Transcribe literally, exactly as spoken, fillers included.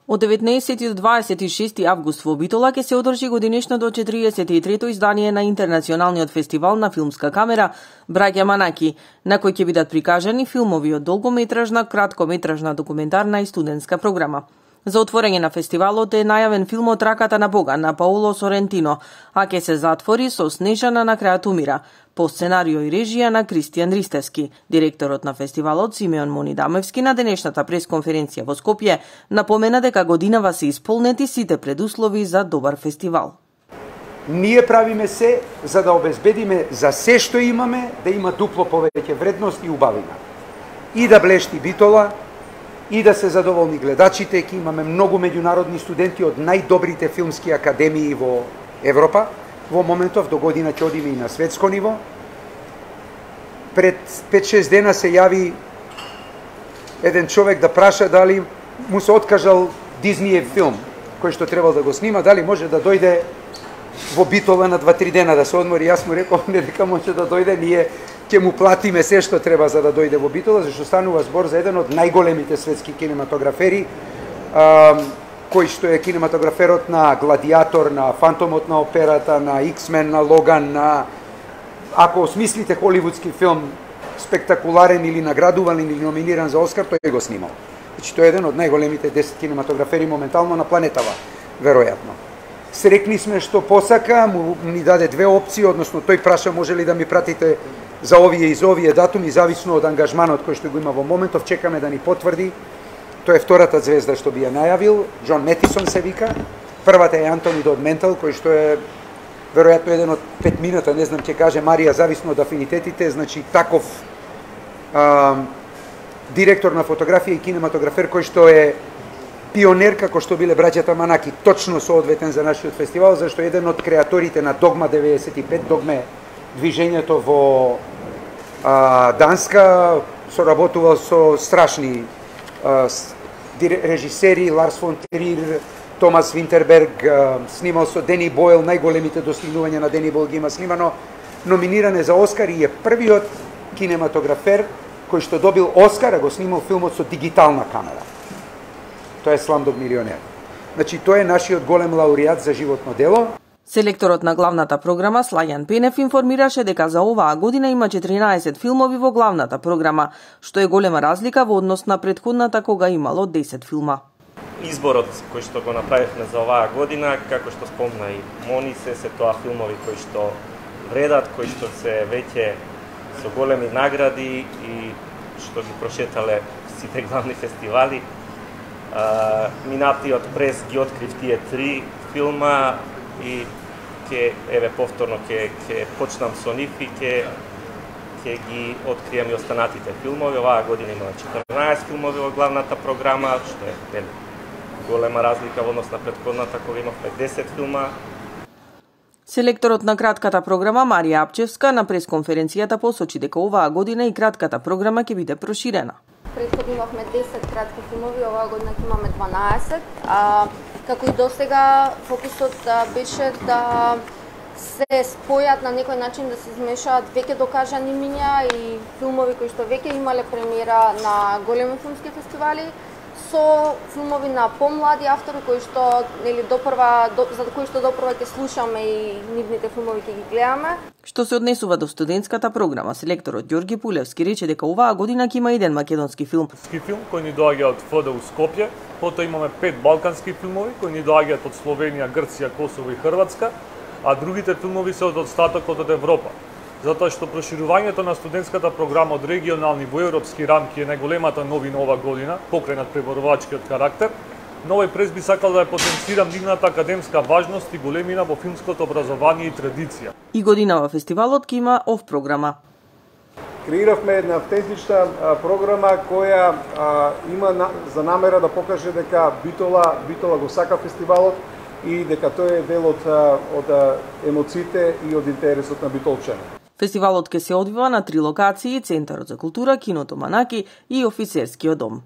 Од деветнаесети до дваесет и шести август во Битола ќе се одржи годинешното четиридесет и трето издание на Интернационалниот фестивал на филмска камера Браќа Манаки, на кој ќе бидат прикажани филмови од долгометражна, краткометражна, документарна и студентска програма. За отворање на фестивалот е најавен филмот Раката на Бога на Паоло Сорентино, а ќе се затвори со Снежана на крајот умира, по сценарио и режија на Кристијан Ристевски. Директорот на фестивалот Симеон Монидамевски на денешната пресконференција во Скопје напомена дека годинава се исполнети сите предуслови за добар фестивал. Ние правиме се за да обезбедиме за се што имаме да има дупло повеќе вредност и убавина. И да блешти Битола, и да се задоволни гледачите, ке имаме многу меѓународни студенти од најдобрите филмски академии во Европа. Во моментов до година ќе одиме и на светско ниво. Пред пет-шест дена се јави еден човек да праша дали му се откажал Дизниев филм, кој што требал да го снима, дали може да дојде во Битола на два-три дена да се одмори. Јас му реков, не дека може да дојде, ние ќе му платиме се што треба за да дојде во Битола, зашто станува збор за еден од најголемите светски кинематографери, а, кој што е кинематограферот на Гладиатор, на Фантомот на операта, на Иксмен, на Логан, на... Ако осмислите холивудски филм спектакуларен или наградуван или номиниран за Оскар, тој го снимал. Значи, тој е еден од најголемите десет кинематографери моментално на планетава, веројатно. Срекни сме што посака, му ни даде две опции, односно тој праша може ли да ми пратите за овие и за овие датуми, зависно од ангажманот кој што го има во моментов, чекаме да ни потврди. Тоа е втората звезда што би ја најавил, Џон Метисон се вика. Првата е Антони Дод Ментал, кој што е веројатно еден од пет минута, не знам ќе каже Марија, зависно од афинитетите, значи таков а, директор на фотографија и кинематографер кој што е пионер како што биле браќата Манаки, точно соодветен за нашиот фестивал, зашто еден од креаторите на Догма деветдесет и пет, Догме движењето во а, Данска, соработувал со страшни а, режисери, Ларс фон Трир, Томас Винтерберг, а, снимал со Дени Бойл, најголемите достигнувања на Дени Бойл ги има снимано, номиниран е за Оскар и е првиот кинематографер кој што добил Оскар, а го снимал филмот со дигитална камера. Тоа е Сламдог милионер. Значи, тоа е нашиот голем лауреат за животно дело. Селекторот на главната програма Слајан Пенев информираше дека за оваа година има четиринаесет филмови во главната програма, што е голема разлика во однос на претходната кога имало десет филма. Изборот кој што го направивме за оваа година, како што спомна и Мони, се се тоа филмови кои што вредат, кои што се веќе со големи награди и што ги прошетале сите главни фестивали. Uh, минатиот прес ги открив тие три филма и ќе еве повторно ќе ќе почнам со нив и ќе ќе ги открием и останатите филмови. Оваа година има четрнаесет филмови во главната програма, што е вели голема разлика во однос на претходната кога имавме десет филма. Селекторот на кратката програма Марија Апчевска на пресконференцијата посочи дека оваа година и кратката програма ќе биде проширена. Претходно имавме десет кратки филмови, оваа година ќе имаме дванаесет. А, како и досега, фокусот а, беше да се спојат на некој начин, да се измешаат веќе докажани имиња и филмови кои што веќе имале премиера на големи филмски фестивали, со филмови на помлади автори кои што нели допрва до, за кои што допрва ќе слушаме и нивните филмови ќе ги гледаме. Што се однесува до студентската програма, селекторот Ѓорги Пулевски рече дека оваа година ќе има еден македонски филм. Филм кој ни доаѓа од ФДУ Скопје, потоа имаме пет балкански филмови кои ни доаѓаат од Словенија, Грција, Косово и Хрватска, а другите филмови се од остатокот од Европа. Затоа што проширувањето на студентската програма од регионални во европски рамки е најголемата новина ова година, покрај над преборувачкиот карактер, но овој прес би сакал да ја потенцирам нивната академска важност и големина во филмското образование и традиција. И годинава фестивалот ќе има ов програма. Креиравме една автентична а, програма која а, има на, за намера да покаже дека Битола, Битола го сака фестивалот и дека тој е дел од, од емоциите и од интересот на битолчани. Фестивалот ќе се одвива на три локации: Центарот за култура, киното Манаки и Офицерскиот дом.